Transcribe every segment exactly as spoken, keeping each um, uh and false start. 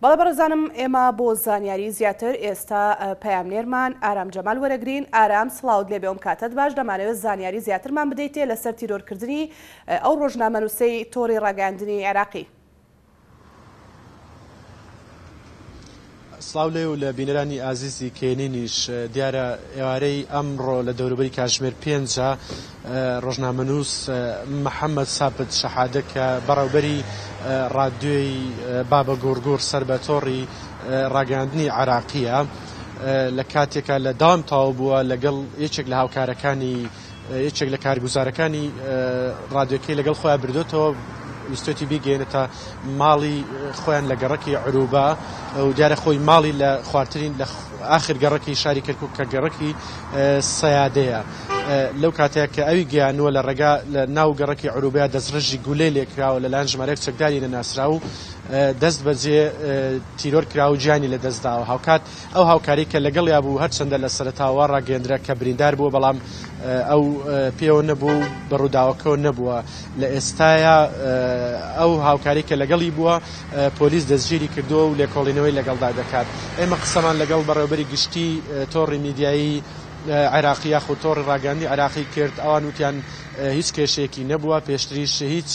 بەڵێ بەڕێزانم، ئێمە بۆ زانیاری زیاتر ئێستا پەیامنێرمان ئارام جەمال وەرەگرین. ئارام سڵاوت لێبێ، ئەم کاتەت باش. دەمانەوێت زانیاری زیاترمان بدەیتێ لەسەر تیرۆرکردنی ئەو ڕۆژنامەنووسەی تۆڕی ڕاگەیاندنی عێراقی. سڵاو لێ و لە بینەرانی ئازیزی کێنینیش. دیارە ئێوارەی ئەمڕۆ لە دەوروبەری کاتژمێر پێنجە ڕۆژنامەنووس محەممەد سابت شەحادە کە بەڕێوبەری ڕادیۆی بابە گوڕگوڕ سەر بە تۆڕی ڕاگەیاندنی عێراقیە، لە کاتێکا لە داوام تەواو بووە لەگەڵ یەکێک لە هاوکارەکانی یەکێک لە کارگوزارەکانی ڕادیۆکەی لەگەڵ خۆیان بردوێتەوە، ویستێتی بیگەێنێتە ماڵی خۆیان لە گەڕەکی عروبە و دیارە خۆی ماڵی لە خوارترین لە ئاخر گەڕەکی شاری کەرکوک کە گەڕەکی سەیادەیە. لەو کاتەیە کە ئەوی گەیانووە لە ڕێگا لە ناو گەڕەکی عروبەیە دەستڕێژی گولەی لێکراوە لەلایەن ژمارەیەک چەکداری نەناسرا و دەست بەجێ تیرۆر کرا و گیانی لەدەستداوە. هاوکات ئەو هاوکاری کە لەگەڵیا بوو هەرچەندە لە سەرەتاوە ڕاگەیەندرا کە بریندار بووە، بەڵام ئەو پێوە نەبوو و بە ڕووداوەکەەوە نەبووە. لە ئێستایا ئەو هاوکاری کە لەگەڵی بووە پۆلیس دەستگیری کردووە و لێکۆڵینەوەی لەگەڵدا دەکات. ئێمە قسەمان لەگەڵ بەڕێوەبەری گشتی تۆڕی میدیایی عێراقی یاخود تۆڕی ڕاگەیاندنی عێراقی کرد. ئەوان وتیان هیچ کێشەیەکی نەبووە، پێشتریش هیچ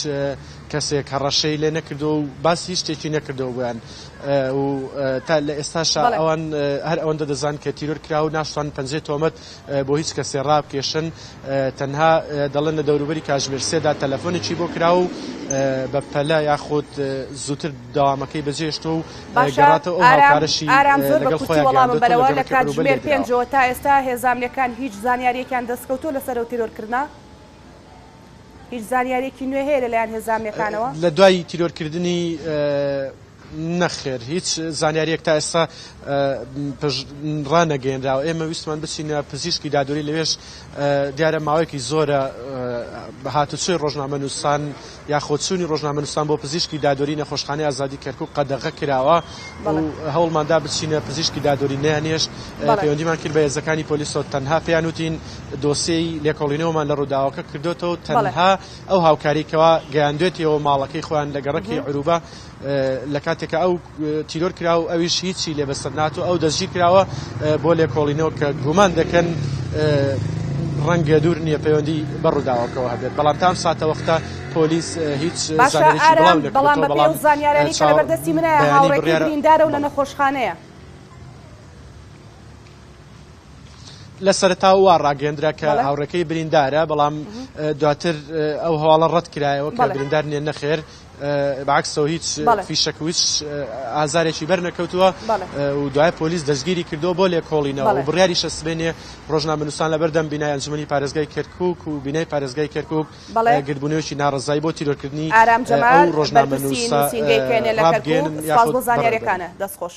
کەسێک هەڕەشەی لێ نەکردو و باسی هیچ شتێکی نەکردەوە بۆیان و تا لە ئێستاشا ئەوان هەر ئەوەندە دەزان کە تیرۆر کرا و ناشتوان پەنجەی تۆمەت بۆ هیچ کەسێ ڕابکێشن. تەنها دەڵێن لە دەوروبەری کاتژمێر سێدا تەلەفۆنێکی بۆ کرا و بە پەلە یاخود زووتر داوامەکەی بەجێشتۆ و گەڕاتەوە ئەو هاوکارەشی لەگەڵ خۆیان گەیاندۆتەوە لە کاتژمێر پێنجەوە تا ئێستا هێزامنیەکان هیچ زانیاریەکیان دەستکەوتووە لەسەر ئەو تیرۆرکردنە؟ هیچ زانیاریەکی نوێ هەیە لەلایەن هێزامنیەکانەوە؟ لە دوای تیرۆرکردنی نەخێر، هیچ زانیاریەک تا ئێستا ڕانەگەیەنراوە. ئێمە ویستمان بچینە پزیشکی دادوەری، لەوێش دیارە ماوەیەکی زۆرە هاتوچۆی ڕۆژنامەنووسان یاخود چوونی ڕۆژنامەنووسان بۆ پزیشکی دادوەری نەخۆشخانەی ئازادی کەرکوک قەدەغە کراوە و هەوڵماندا بچینە پزیشکی دادوەری نەیانێشت. پەیوەندیمان کرد بە هێزەکانی پۆلیسەوە، تەنها پێیان وتین دۆسیەی لێکۆڵینەوەمان لە ڕووداوەکە کردوێتەوە، تەنها ئەو هاوکاریکەوە گەیاندوێتیەوە ماڵەکەی خۆیان لە گەڕەکی عروبە لە کاتێکە ئەو تیرۆر کرا و ئەویش هیچی لێ بەسەر ناتوو، ئەو دەستگیر کراوە بۆ لێکۆڵینەوە کە گومان دەکەن ڕەنگە دوور نییە پەیوەندی بە ڕووداوەکەوە هەبێت. بەڵام تام ساتە وەختە پۆلیس هیچ زانیاریی بڵاو نەکردووەتەوە. بەڵام بەپێی ئەو زانیارانەی کە لەبەردەستی منە هاوڕێکەی بریندارە و لە نەخۆشخانەیە. لە سەرەتا وا ڕاگەیەندرا کە هاوڕێکەی بریندارە، بەڵام دواتر ئەو هەواڵە ڕەت کرایەوە کە بریندار نییە. نەخێر، بەعکسەوە هیچ فیشەک و هیچ ئازارێکی بەر نەکەوتووە و دوای پۆلیس دەستگیری کردووە بۆ لێکۆڵینەوە و بڕیاریشە سبەینێ ڕۆژنامەنووسان لەبەردەم بینای ئەنجومەنی پارێزگای کەرکوک و بینای پارێزگای کەرکوک گردبوونەوەیەکی ناڕەزایی بۆ تیرۆرکردنی ئارام ئەو جەمال، ڕۆژنامەنووسە بەرپرسی نووسینگەی کێنێ لە کەرکوک، ڕابگەیەنن سپاس بۆ یاخود زانیاریەکانە. دەستخۆش.